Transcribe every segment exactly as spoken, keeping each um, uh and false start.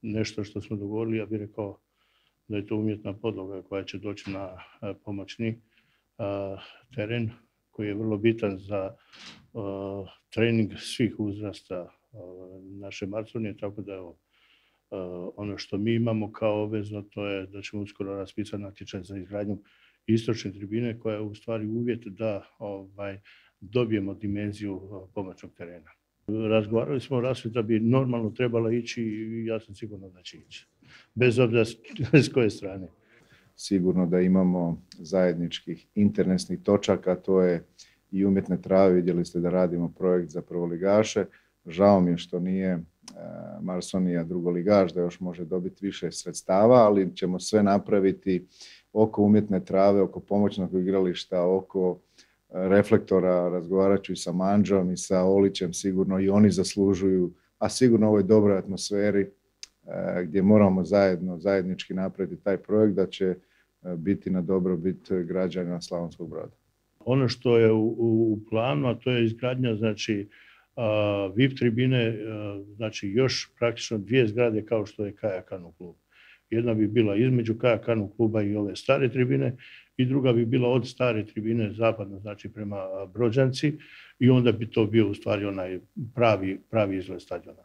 nešto što smo dogovorili, ja bih rekao da je to umjetna podloga koja će doći na pomoćni teren koji je vrlo bitan za trening svih uzrasta naše Marsonije, tako da evo, ono što mi imamo kao obvezno to je da ćemo uskoro raspisati natječaj za izgradnju istočne tribine koja je u stvari uvjet da ovaj, dobijemo dimenziju pomoćnog terena. Razgovarali smo o rasvjeti da bi normalno trebala ići i ja sam sigurno da će ići, bez obzira s koje strane. Sigurno da imamo zajedničkih internetnih točaka, to je i umjetne trave. Vidjeli ste da radimo projekt za prvoligaše. Žao mi je što nije Marsonija drugoligaš, da još može dobiti više sredstava, ali ćemo sve napraviti oko umjetne trave, oko pomoćnog igrališta, oko reflektora. Razgovarat ću i sa Manđom i sa Olićem, sigurno i oni zaslužuju, a sigurno u ovoj dobroj atmosferi gdje moramo zajedno, zajednički napraviti taj projekt, da će biti na dobrobit građana Slavonskog Broda. Ono što je u, u planu, a to je izgradnja, znači, Uh, V I P tribine, uh, znači još praktično dvije zgrade kao što je Kajakanu klub. Jedna bi bila između Kajakanu kluba i ove stare tribine i druga bi bila od stare tribine zapadno, znači prema Brođanci, i onda bi to bio u stvari onaj pravi, pravi izgled stadiona.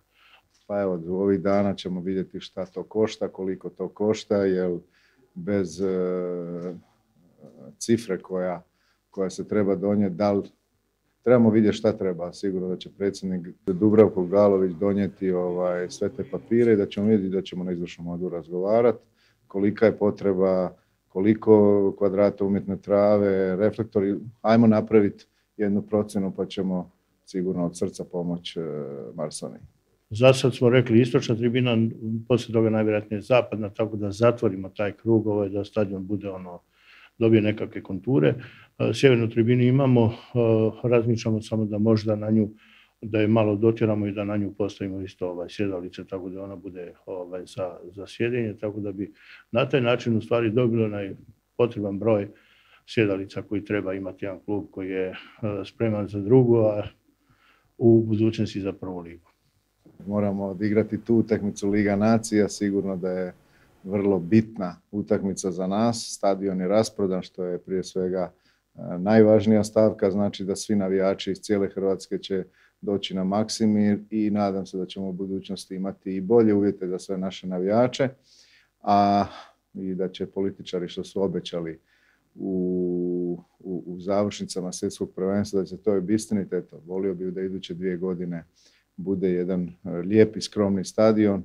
Pa evo, ovih dana ćemo vidjeti šta to košta, koliko to košta, jer bez uh, cifre koja, koja se treba donijeti, da li trebamo vidjeti šta treba. Sigurno da će predsjednik Dubravko Galović donijeti ovaj, sve te papire i da ćemo vidjeti da ćemo na izvršnom odboru razgovarati kolika je potreba, koliko kvadrata umjetne trave, reflektori. Ajmo napraviti jednu procjenu pa ćemo sigurno od srca pomoći Marsoniji. Za sad smo rekli istočna tribina, poslije toga najvjerojatnije zapadna, tako da zatvorimo taj krug, ovaj, da stadion bude ono, dobije nekakve konture. Sjevernu tribinu imamo, razmišljamo samo da možda na nju, da je malo dotjeramo i da na nju postavimo isto ovaj, sjedalice, tako da ona bude ovaj, za, za sjedenje, tako da bi na taj način u stvari dobilo onaj potreban broj sjedalica koji treba imati jedan klub koji je spreman za drugu, a u budućnosti za prvu ligu. Moramo odigrati tu utakmicu Liga nacija, sigurno da je vrlo bitna utakmica za nas. Stadion je rasprodan, što je prije svega najvažnija stavka, znači da svi navijači iz cijele Hrvatske će doći na Maksimir i nadam se da ćemo u budućnosti imati i bolje uvjete za sve naše navijače, a i da će političari što su obećali u, u, u završnicama svjetskog prvenstva da će to obistiniti. Eto, volio bih da iduće dvije godine bude jedan lijep i skromni stadion